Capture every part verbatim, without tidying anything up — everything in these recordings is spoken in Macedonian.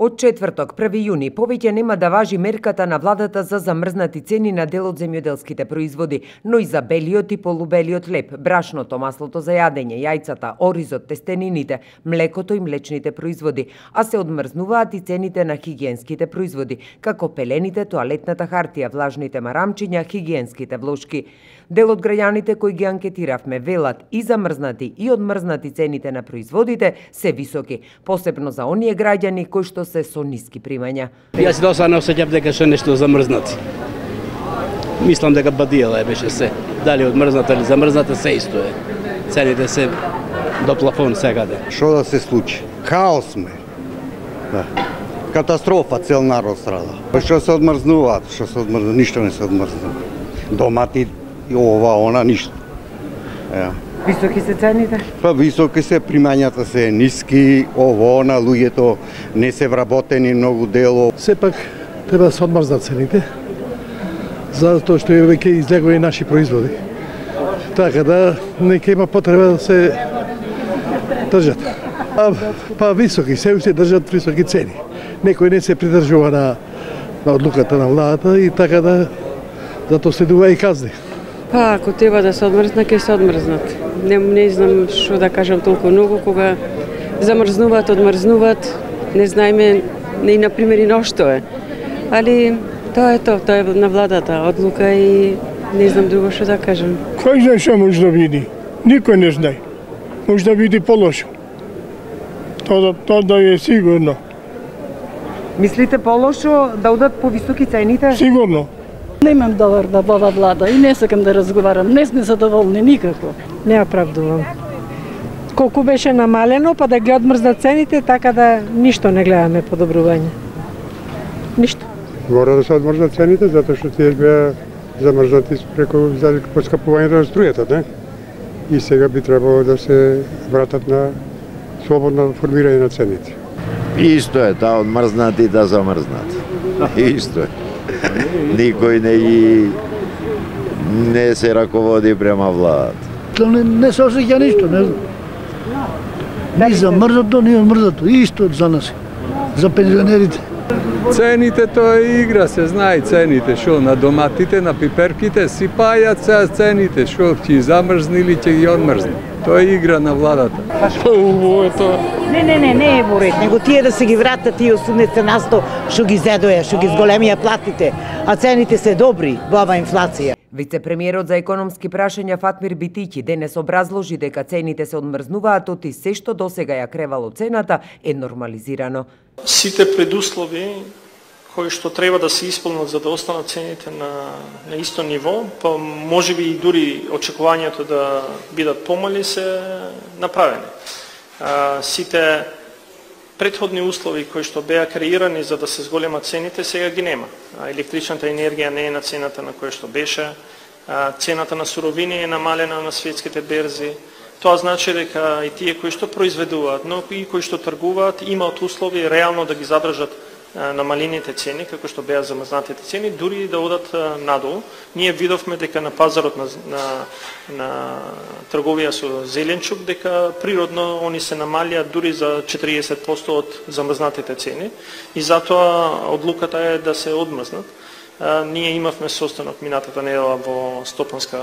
Од четврток, први јуни, повеќе нема да важи мерката на владата за замрзнати цени на дел од земјоделските производи, но и за белиот и полубелиот леб, брашното, маслото за јадење, јајцата, оризот, тестенините, млекото и млечните производи, а се одмрзнуваат и цените на хигиенските производи, како пелените, тоалетната хартија, влажните марамчиња, хигиенските влошки. Дел од граѓаните кои ги анкетиравме велат и замрзнати и одмрзнати цените на производите се високи, посебно за оние граѓани кои што се со ниски примања. Јас досега не осеќав дека се нешто замрзнати. Мислам дека бадијала беше се. Дали одмрзната или замрзната, се исто е. Цените се до плафон секаде. Што да се случи? Хаос сме. Да. Катастрофа, цел народ страда. Што се одмрзнуваат, што се одмрзнуваат, ништо не се одмрзнува. Домати, ова, она, ништо. Е. Високи се цените? Па високи се, примањата се ниски, ово, на луѓето не се вработени многу дело. Сепак треба да се одмрзнат цените, затоа што е веќе излегоа и наши производи. Така да не ќе има потреба да се држат. А, па високи, се уште држат високи цени. Некој не се придржува на, на одлуката на владата и така да затоа следува и казни. Па, ако треба да се одмрзнат, ќе се одмрзнат. Не, не знам што да кажам толку многу, кога замрзнуваат, одмрзнуваат, не знаеме не и на примери на што е. Али тоа е тоа, тоа е на владата одлука и не знам друго што да кажам. Кој знае што може да види? Никој не знае. Може да види полошо. Тоа, тоа да е сигурно. Мислите полошо да одат по високи цените? Сигурно. Немам довар да ова влада и не сакам да разговарам. Не сме задоволни никако. Не оправдувам. Колку беше намалено, па да ги одмрзнат цените, така да ништо не гледаме подобрување. Ништо. Мора да се одмрзнат цените, затоа што тие беа замрзнати преку поскапувањето на струјата, не? И сега би требало да се вратат на слободно формирање на цените. Исто е, да одмрзнат и да замрзнат. Исто е. Никој не ги не се раководи према владата. Не, не се осеќа ништо, не знам. Ни замрзнато, ни одмрзнато, исто за нас, за пензионерите. Цените тоа е игра, се знае цените, шо на доматите, на пиперките си пајат се цените, шо ќе замрзни или ќе ги одмрзни. Тоа е игра на владата. Ово е тоа. Не, не, не, не е во ред, него тие да се ги вратат тие осумдесет на сто што ги зедоја, што ги зголемија платите, а цените се добри во ова инфлација. Вице-премиерот за економски прашања Фатмир Битиќи денес образложи дека цените се одмрзнуваат оти се што досега ја кревало цената е нормализирано. Сите предуслови кои што треба да се исполнат за да останат цените на, на исто ниво, па можеби и дури очекувањето да бидат помали се направени. А, сите претходни услови кои што беа креирани за да се зголемат цените, сега ги нема. А, електричната енергија не е на цената на која што беше, а, цената на суровини е намалена на светските берзи. Тоа значи дека и тие кои што произведуваат, но и кои што тргуваат, имаат услови реално да ги задржат намалените цени, како што беа замрзнатите цени, дури да одат надолу. Ние видовме дека на пазарот на, на, на трговија со зеленчук, дека природно они се намалија дури за четириесет проценти од замрзнатите цени и затоа одлуката е да се одмрзнат. Ние имавме состанок минатата недела во Стопанска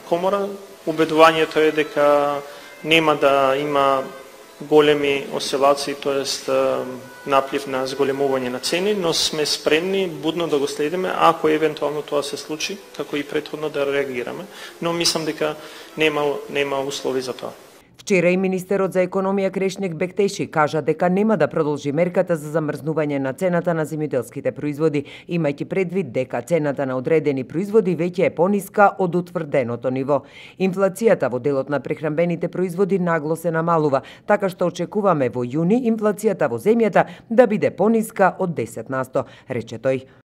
комора. Убедувањето е дека нема да има големи оселации, тоест наплив на зголемување на цени, но сме спремни будно да го следиме, ако евентуално тоа се случи, како и претходно да реагираме, но мислам дека нема, нема услови за тоа. Вчера и министерот за економија Крешник Бектеши кажа дека нема да продолжи мерката за замрзнување на цената на земјоделските производи, имајќи предвид дека цената на одредени производи веќе е пониска од утврденото ниво. Инфлацијата во делот на прехранбените производи нагло се намалува, така што очекуваме во јуни инфлацијата во земјата да биде пониска од десет на сто, рече тој.